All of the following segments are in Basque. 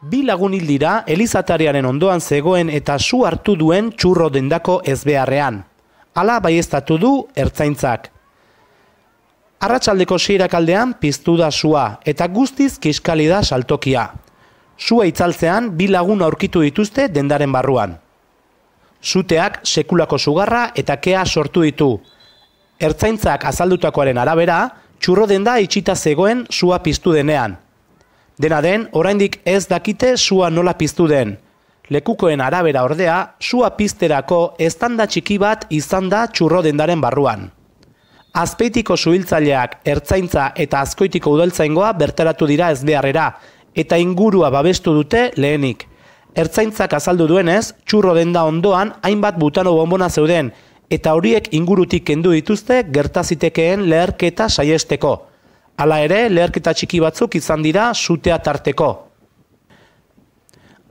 Bi lagun hil dira elizatariaren ondoan zegoen eta su hartu duen txurro dendako ezbeharrean. Hala baieztatu du ertzaintzak. Arratsaldeko 6 aldean piztu da sua eta guztiz kiskali da saltokia. Sua itzaltzean bi lagun aurkitu dituzte dendaren barruan. Suteak sekulako sugarra eta kea sortu ditu. Ertzaintzak azaldutakoaren arabera, txurro denda itxita zegoen sua piztu denean. Dena den, oraindik ez dakite sua nola piztu den. Lekukoen arabera ordea, sua pizterako eztanda txiki bat izan da txurro dendaren barruan. Azpeitiko suhiltzaileak, ertzaintza eta Azkoitiko udaltzaingoa bertaratu dira ezbeharrera, eta ingurua babestu dute lehenik. Ertzaintzak azaldu duenez, txurro denda ondoan hainbat butano bonbona zeuden, eta horiek ingurutik kendu dituzte gertazitekeen leherketa saiesteko. Hala ere, leherketa txiki batzuk izan dira sutea tarteko.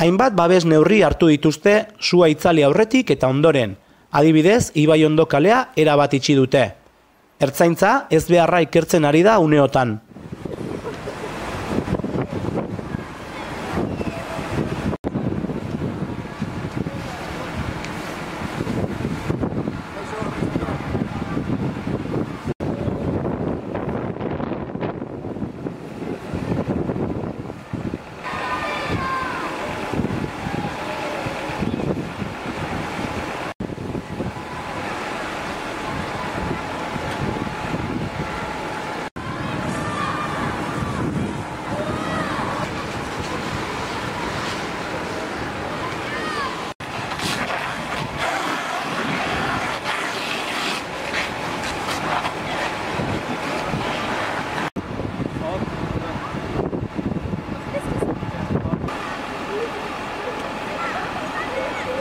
Hainbat babes neurri hartu dituzte sua itzali aurretik eta ondoren. Adibidez, Ibaiondo kalea erabat itxi dute. Ertzaintza ezbeharra ikertzen ari da uneotan.